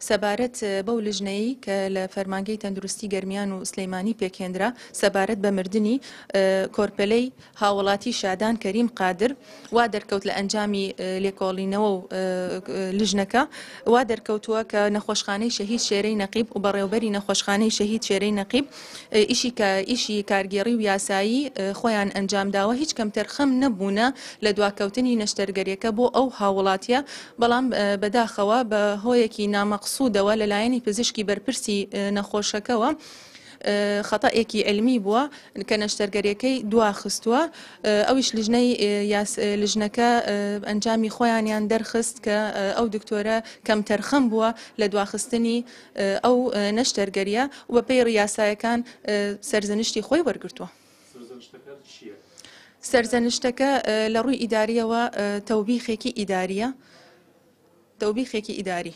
سەبارەت بەو لژنەی کە لە فەرمانگەی تەندروستی گەرمیان و سلیمانی پێکهێنرا سەبارەت بە مردنی کۆرپەلەی هاوڵاتی شادان کەریم قادر، وا دەرکەوت لە ئەنجامی لێکۆڵینەوە و لژنەکە وا دەرکەوتووە کە نەخۆشخانەی شەهید شێرەی نەقیب و بەڕێوبەری نەخۆشخانەی شەهید شێرەی نەقیب ئیشی کە ئیشی کارگێڕی و یاسایی خۆیان ئەنجامداوە هیچ کەمتەرخەم نەبوونە لە دواکەوتنی نەشتەرگەریەکە بۆ ئەو هاوڵاتیە بەڵام بەداخەوە بە هۆیەکی نامەقسودەوە لەلایەنی پزیشکی بەرپرسی نەخۆشەکەوە خەتەئێکی عیلمی بووە کە نەشتەرگەریەکەی دواخستووە ئەویش لیژنەی لیژنەکە ئەنجامی خۆیانیان دەرخست کە ئەو دکتۆرە کەمتەرخەم بووە لە دواخستنی ئەو نەشتەرگەریە و بەپێی ڕیاسایەکان سەرزەنشتی خۆی وەرگرتووە. سەرزەنشتەکە چییە؟ سەرزەنشتەکە لە ڕووی ئیداریەوە تەوبیخێکی ئیداریە تەوبیخێکی ئیداری.